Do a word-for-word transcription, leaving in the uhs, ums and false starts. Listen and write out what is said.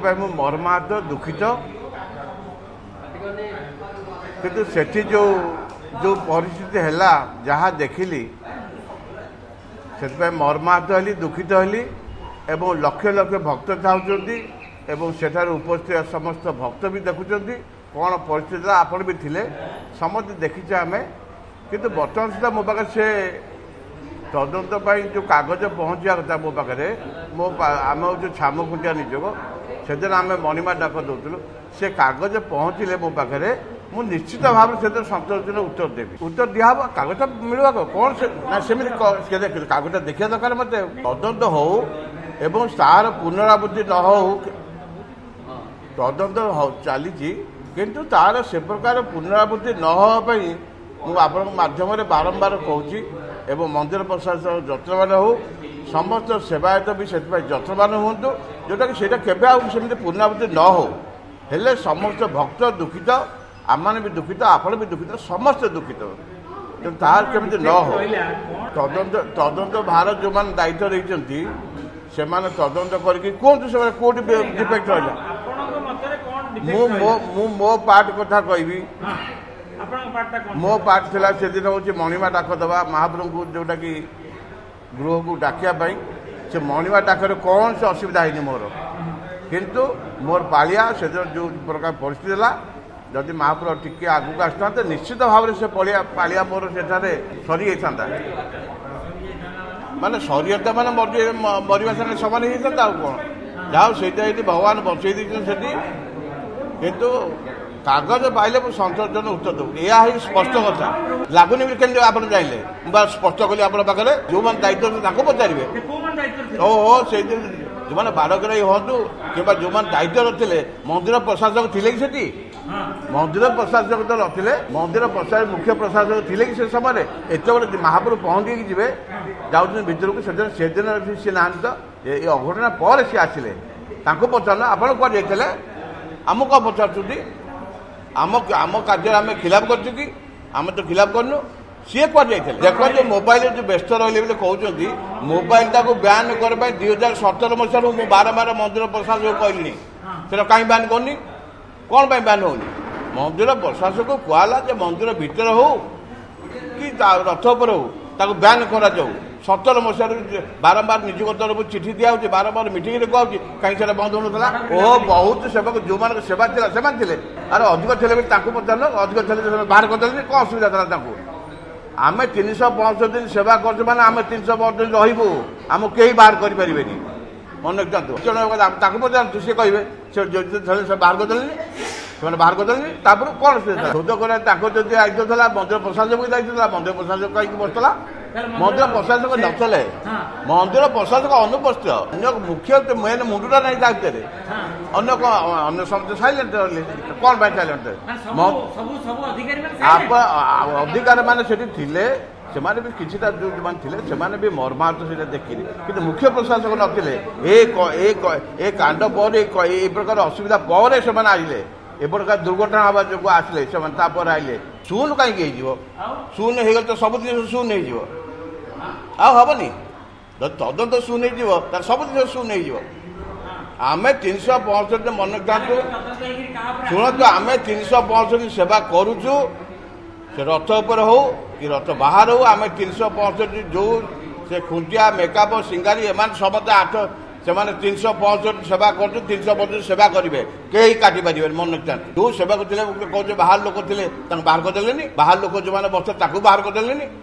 ସେଥିପାଇଁ ମୁଁ ମର୍ମାହତ, ଦୁଃଖିତ। କିନ୍ତୁ ସେଠି ଯେଉଁ ଯେଉଁ ପରିସ୍ଥିତି ହେଲା, ଯାହା ଦେଖିଲି, ସେଥିପାଇଁ ମର୍ମାହତ ହେଲି, ଦୁଃଖିତ ହେଲି। ଏବଂ ଲକ୍ଷ ଲକ୍ଷ ଭକ୍ତ ଚାହୁଁଛନ୍ତି ଏବଂ ସେଠାରେ ଉପସ୍ଥିତ ସମସ୍ତ ଭକ୍ତ ବି ଦେଖୁଛନ୍ତି କ'ଣ ପରିସ୍ଥିତି ହେଲା। ଆପଣ ବି ଥିଲେ, ସମସ୍ତେ ଦେଖିଛେ ଆମେ। କିନ୍ତୁ ବର୍ତ୍ତମାନ ସୁଦ୍ଧା ମୋ ପାଖରେ ସେ ତଦନ୍ତ ପାଇଁ ଯେଉଁ କାଗଜ ପହଞ୍ଚିବା କଥା ମୋ ପାଖରେ, ମୋ ଆମେ ହେଉଛୁ ଛାମଖୁଣ୍ଟିଆ ନିଯୋଗ, ସେଦିନ ଆମେ ମଣିମା ଡାକ ଦେଉଥିଲୁ। ସେ କାଗଜ ପହଞ୍ଚିଲେ ମୋ ପାଖରେ ମୁଁ ନିଶ୍ଚିତ ଭାବରେ ସେଥିରେ ସନ୍ତୋଷଜନକ ଉତ୍ତର ଦେବି। ଉତ୍ତର ଦିଆହେବ, କାଗଜ ମିଳିବ କ'ଣ ସେ ନା ସେମିତି କାଗଜ ଦେଖିବା ଦରକାର ମୋତେ। ତଦନ୍ତ ହଉ ଏବଂ ତାର ପୁନରାବୃତ୍ତି ନ ହଉ। ତଦନ୍ତ ଚାଲିଛି, କିନ୍ତୁ ତାର ସେ ପ୍ରକାର ପୁନରାବୃତ୍ତି ନ ହେବା ପାଇଁ ମୁଁ ଆପଣଙ୍କ ମାଧ୍ୟମରେ ବାରମ୍ବାର କହୁଛି। ଏବଂ ମନ୍ଦିର ପ୍ରଶାସନ ଯତ୍ନବାନ ହେଉ, ସମସ୍ତ ସେବାୟତ ବି ସେଥିପାଇଁ ଯତ୍ନବାନ ହୁଅନ୍ତୁ, ଯେଉଁଟାକି ସେଇଟା କେବେ ଆଉ ସେମିତି ପୁନରାବୃତ୍ତି ନ ହେଉ। ହେଲେ ସମସ୍ତ ଭକ୍ତ ଦୁଃଖିତ, ଆମମାନେ ବି ଦୁଃଖିତ, ଆପଣ ବି ଦୁଃଖିତ, ସମସ୍ତେ ଦୁଃଖିତ। ତେଣୁ ତାହାର କେମିତି ନ ହେଉ। ତଦନ୍ତ ତଦନ୍ତ ଭାର ଯେଉଁମାନେ ଦାୟିତ୍ୱ ନେଇଛନ୍ତି, ସେମାନେ ତଦନ୍ତ କରିକି କୁହନ୍ତୁ ସେମାନେ କେଉଁଠି ଡିଫେକ୍ଟ ରହିଲା। ମୁଁ ମୋ ମୁଁ ମୋ ପାର୍ଟ କଥା କହିବି। ମୋ ପାର୍ଟ ଥିଲା ସେଦିନ ହେଉଛି ମଣିମା ଡାକ ଦେବା ମହାପ୍ରଭୁଙ୍କୁ, ଯେଉଁଟାକି ଗୃହକୁ ଡାକିବା ପାଇଁ। ସେ ମଣିମା ଡାକରେ କୌଣସି ଅସୁବିଧା ହେଇନି ମୋର, କିନ୍ତୁ ମୋର ପାଳିଆ ସେଦିନ ଯେଉଁ ପ୍ରକାର ପରିସ୍ଥିତି ହେଲା, ଯଦି ମହାପ୍ରଭୁ ଟିକେ ଆଗକୁ ଆସିଥାନ୍ତେ, ନିଶ୍ଚିତ ଭାବରେ ସେ ପଳିଆ ପାଳିଆ ମୋର ସେଠାରେ ସରିଯାଇଥାନ୍ତା। ମାନେ ସରିଯାଇଥା ମାନେ ମରିବା ସାଙ୍ଗେ ସମାନ ହେଇଯାଇଥାନ୍ତା, ଆଉ କ'ଣ। ଯାହା ହଉ ସେଇଟା ଏଇଠି ଭଗବାନ ବଞ୍ଚେଇ ଦେଇଛନ୍ତି ସେଠି। କିନ୍ତୁ କାଗଜ ପାଇଲେ ମୁଁ ସନ୍ତୋଷଜନକ ଉତ୍ତର ଦେବୁ, ଏହା ହିଁ ସ୍ପଷ୍ଟ କଥା। ଲାଗୁନି ବୋଲି କେମିତି ଆପଣ ଜାଣିଲେ? ମୁଁ ବା ସ୍ପଷ୍ଟ କଲି ଆପଣଙ୍କ ପାଖରେ। ଯେଉଁମାନେ ଦାୟିତ୍ୱ ତାଙ୍କୁ ପଚାରିବେ। ଓହୋ, ସେଇଦିନ ଯେଉଁମାନେ ବାଡ଼ଗ୍ରାହୀ ହୁଅନ୍ତୁ କିମ୍ବା ଯେଉଁମାନେ ଦାୟିତ୍ୱ ନଥିଲେ, ମନ୍ଦିର ପ୍ରଶାସକ ଥିଲେ କି ସେଠି? ମନ୍ଦିର ପ୍ରଶାସକ ତ ନଥିଲେ। ମନ୍ଦିର ପ୍ରଶାସକ, ମୁଖ୍ୟ ପ୍ରଶାସକ ଥିଲେ କି ସେ ସମୟରେ? ଏତେବେଳେ ମହାପ୍ରଭୁ ପହଞ୍ଚିକି ଯିବେ, ଯାଉଛନ୍ତି ଭିତରକୁ, ସେଦିନ ସେଦିନ ସିଏ ନାହାନ୍ତି ତ। ଏ ଅଘଟଣା ପରେ ସିଏ ଆସିଲେ। ତାଙ୍କୁ ପଚାରିଲ, ଆପଣ କୁଆଡ଼େ ଯାଇଥିଲେ? ଆମକୁ କ'ଣ ପଚାରୁଛନ୍ତି? ଆମ ଆମ କାର୍ଯ୍ୟରେ ଆମେ ଖିଲାପ କରିଛୁ କି? ଆମେ ତ ଖିଲାପ କରିନୁ। ସିଏ କୁଆଡ଼େ ଯାଇଥିଲେ? ଦେଖନ୍ତୁ, ମୋବାଇଲରେ ଯେଉଁ ବ୍ୟସ୍ତ ରହିଲେ ବୋଲି କହୁଛନ୍ତି, ମୋବାଇଲଟାକୁ ବ୍ୟାନ୍ କରିବା ପାଇଁ ଦୁଇ ହଜାର ସତର ମସିହାରୁ ମୁଁ ବାରମ୍ବାର ମନ୍ଦିର ପ୍ରଶାସକ କହିଲିଣି। ସେଟା କାହିଁ ବ୍ୟାନ୍ କରୁନି? କ'ଣ ପାଇଁ ବ୍ୟାନ୍ ହେଉନି? ମନ୍ଦିର ପ୍ରଶାସକକୁ କୁହାହେଲା ଯେ ମନ୍ଦିର ଭିତରେ ହଉ କି ରଥ ଉପରେ ହଉ, ତାକୁ ବ୍ୟାନ୍ କରାଯାଉ। ସତର ମସିହାରୁ ବାରମ୍ବାର ନିଯୋଗ ତରଫରୁ ଚିଠି ଦିଆହେଉଛି, ବାରମ୍ବାର ମିଟିଂରେ କୁହାହେଉଛି, କାହିଁକି ସେଟା ବନ୍ଦ ହେଉନଥିଲା? ଓ ବହୁତ ସେବକ, ଯେଉଁମାନଙ୍କ ସେବା ଥିଲା ସେମାନେ ଥିଲେ। ଆରେ ଅଧିକ ଥିଲେ ବି ତାଙ୍କୁ ପଚାରିଲ, ଅଧିକ ଥିଲେ ସେମାନେ ବାହାର କରିଦେଲେନି, କ'ଣ ଅସୁବିଧା ଥିଲା ତାଙ୍କୁ? ଆମେ ତିନିଶହ ପଞ୍ଚଷଠି ଦିନ ସେବା କରୁଛୁ, ମାନେ ଆମେ ତିନିଶହ ପଞ୍ଚଷଠି ଦିନ ରହିବୁ, ଆମକୁ କେହି ବାହାର କରିପାରିବେନି, ମନେ ରଖିଥାନ୍ତୁ। ତାକୁ ପଚାରନ୍ତୁ, ସିଏ କହିବେ। ସେ ସେ ବାହାର କରିଦେଲେନି, ସେମାନେ ବାହାର କରିଦେଲେନି, ତାପରେ କ'ଣ ଅସୁବିଧା ଥିଲା? ଶୋଧ କରିବା ତାଙ୍କର ଯଦି ଦାୟିତ୍ୱ ଥିଲା, ମନ୍ଦିର ପ୍ରଶାସକ ବି ଦାୟିତ୍ୱ ଥିଲା। ମନ୍ଦିର ପ୍ରଶାସକ କାହିଁକି ବସିଥିଲା? ମନ୍ଦିର ପ୍ରଶାସକ ନଥିଲେ, ମନ୍ଦିର ପ୍ରଶାସକ ଅନୁପସ୍ଥିତ। ଅନ୍ୟ ମୁଖ୍ୟ ମେନ୍ ମୁଣ୍ଡଟା ନାହିଁ ତା ଭିତରେ, ଅନ୍ୟ କ'ଣ? ଅନ୍ୟ ସମସ୍ତେ ସାଇଲେଣ୍ଟ ରହିଲେ। କ'ଣ ପାଇଁ ସାଇଲେଣ୍ଟ? ଅଧିକାରୀ ମାନେ ସେଠି ଥିଲେ, ସେମାନେ ବି କିଛିଟା ଯେଉଁମାନେ ଥିଲେ ସେମାନେ ବି ମର୍ମାହତ ସେଇଟା ଦେଖିଲି। କିନ୍ତୁ ମୁଖ୍ୟ ପ୍ରଶାସକ ନଥିଲେ। ଏ ଏ କାଣ୍ଡ ପରେ, ଏ ପ୍ରକାର ଅସୁବିଧା ପରେ ସେମାନେ ଆସିଲେ। ଏ ପ୍ରକାର ଦୁର୍ଘଟଣା ହେବା ଯୋଗୁଁ ଆସିଲେ ସେମାନେ, ତାପରେ ଆଇଲେ। ଶୂନ କାହିଁକି ହେଇଯିବ? ଶୂନ ହେଇଗଲେ ତ ସବୁ ଜିନିଷ ଶୂନ ହେଇଯିବ, ଆଉ ହବନି। ଯଦି ତଦନ୍ତ ଶୂନ ହେଇଯିବ, ତାହେଲେ ସବୁ ଜିନିଷ ଶୂନ ହେଇଯିବ। ଆମେ ତିନିଶହ ପଞ୍ଚଷଠି, ମନେ ରଖିଥାନ୍ତୁ, ଶୁଣନ୍ତୁ, ଆମେ ତିନିଶହ ପଞ୍ଚଷଠି ସେବା କରୁଛୁ। ସେ ରଥ ଉପରେ ହଉ କି ରଥ ବାହାରେ ହଉ, ଆମେ ତିନିଶହ ପଞ୍ଚଷଠି। ଯେଉଁ ସେ ଖୁଣ୍ଟିଆ, ମେକାପ, ସିଙ୍ଗାରୀ, ଏମାନେ ସମସ୍ତେ ଆଠ, ସେମାନେ ତିନିଶହ ପଞ୍ଚଷଠି ସେବା କରୁଛୁ, ତିନିଶହ ପଞ୍ଚଷଠି ସେବା କରିବେ, କେହି କାଟି ପାରିବେନି, ମନେ ରଖିଥାନ୍ତୁ। ଯେଉଁ ସେବାକୁ ଥିଲେ କହୁଛେ ବାହାର ଲୋକ ଥିଲେ, ତାଙ୍କୁ ବାହାର କରିଦେଲେନି। ବାହାର ଲୋକ ଯେଉଁମାନେ ବସିଥିଲେ ତାକୁ ବାହାର କରିଦେଲେନି।